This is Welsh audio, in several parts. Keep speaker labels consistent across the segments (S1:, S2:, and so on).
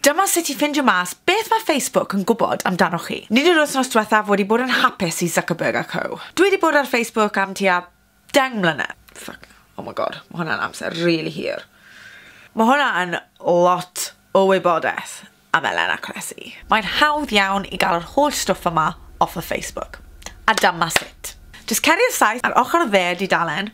S1: Dyma sut i ffindio mas beth mae Facebook yn gwybod amdanoch chi. Nid yw'r wythnos diwethaf wedi bod yn hapus i Zuckerberg a co. Dwi wedi bod ar Facebook am tua 10 mlynedd. Fuck, oh my God, mae hwnna'n amser really hir. Mae hwnna yn lot o wybodaeth am Elena Cressy. Mae'n hawdd iawn i gael yr holl stwff yma off of Facebook. A dyma sut. Just cer i'r saith ar ochr dde dudalen,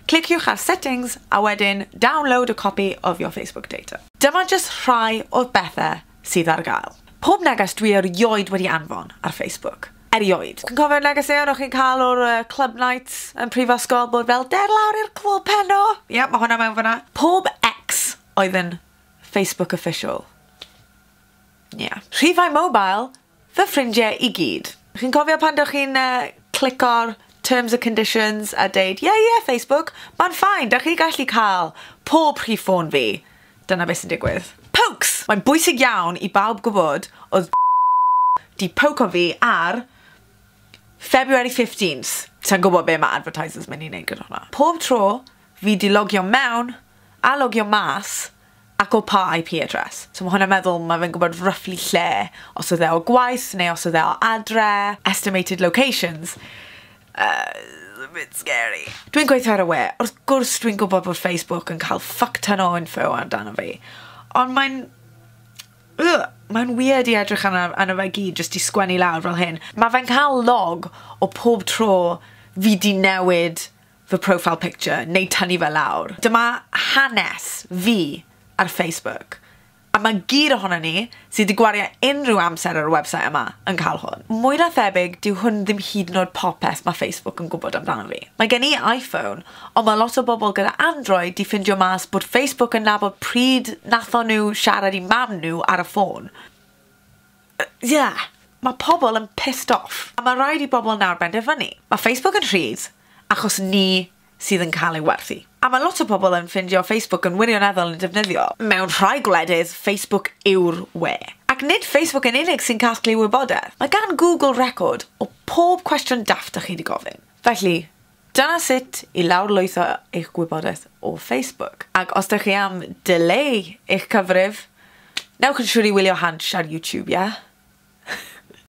S1: cliciwch ar settings a wedyn download a copy of your Facebook data. Dyma just rhai o'r bethau sydd ar gael. Pob neges dwi erioed wedi anfon ar Facebook. Erioed. Chi'n cofio'r negeseuon o'ch chi'n cael o'r club nights yn prifysgol bod fel der lawr i'r clwb heno? Ie, yeah, mae hwnna mewn fyna. Pob ex oedd yn Facebook official. Yeah. Rhifau mobile, fy ffrindiau i gyd. Chi'n cofio pan dych chi'n clico'r terms and conditions a deud, Yeah, Facebook, mae'n fine, dych chi gallu cael pob rhif ffôn fi." Dyna beth sy'n digwydd. Pokes! Mae'n bwysig iawn i bawb gwybod oedd di poko fi ar February 15th. Sa'n gwybod be mae advertisers mynd i wneud gyda hwnna. Pob tro fi di logio mewn a logio mas ac o pa IP address. So mae hwnna'n meddwl mae fe'n gwybod roughly lle, os oedd e o gwaith neu os oedd e o adre, estimated locations. A bit scary. Dwi'n gweithio ar y we, wrth gwrs dwi'n gwybod bod Facebook yn cael fuck ton o info amdano fi. Ond mae'n weird i edrych arno fe gyd jyst i sgwennu lawr fel hyn. Mae fe'n cael log o pob tro fi di newid fy profile picture neu tynnu fe lawr. Dyma hanes fi ar Facebook. A mae gyd ohono ni sydd wedi gwario unrhyw amser ar y website yma yn cael hwn. Mwy na thebyg, dyw hwn ddim hyd yn oed popeth mae Facebook yn gwybod amdano fi. Mae gen i iPhone, ond mae lot o bobl gyda Android di ffindio mas bod Facebook yn nabod pryd nathon nhw siarad i mam nhw ar y ffôn. Yeah. Mae pobl yn pissed off. A mae rhaid i bobl nawr benderfynu. Mae Facebook yn rhydd achos ni sydd yn cael ei werthu. A mae lot o bobl yn ffindio Facebook yn wirioneddol yn defnyddio. Mewn rhai gwledydd, Facebook yw'r we. Ac nid Facebook yn unig sy'n casglu wybodaeth. Mae gan Google record o pob cwestiwn daft ych chi wedi gofyn. Felly, dyna sut i lawrlwytho eich gwybodaeth o Facebook. Ac os ydych chi am dileu eich cyfrif, newch yn siŵr i wylio Hansh ar YouTube, ie? Yeah?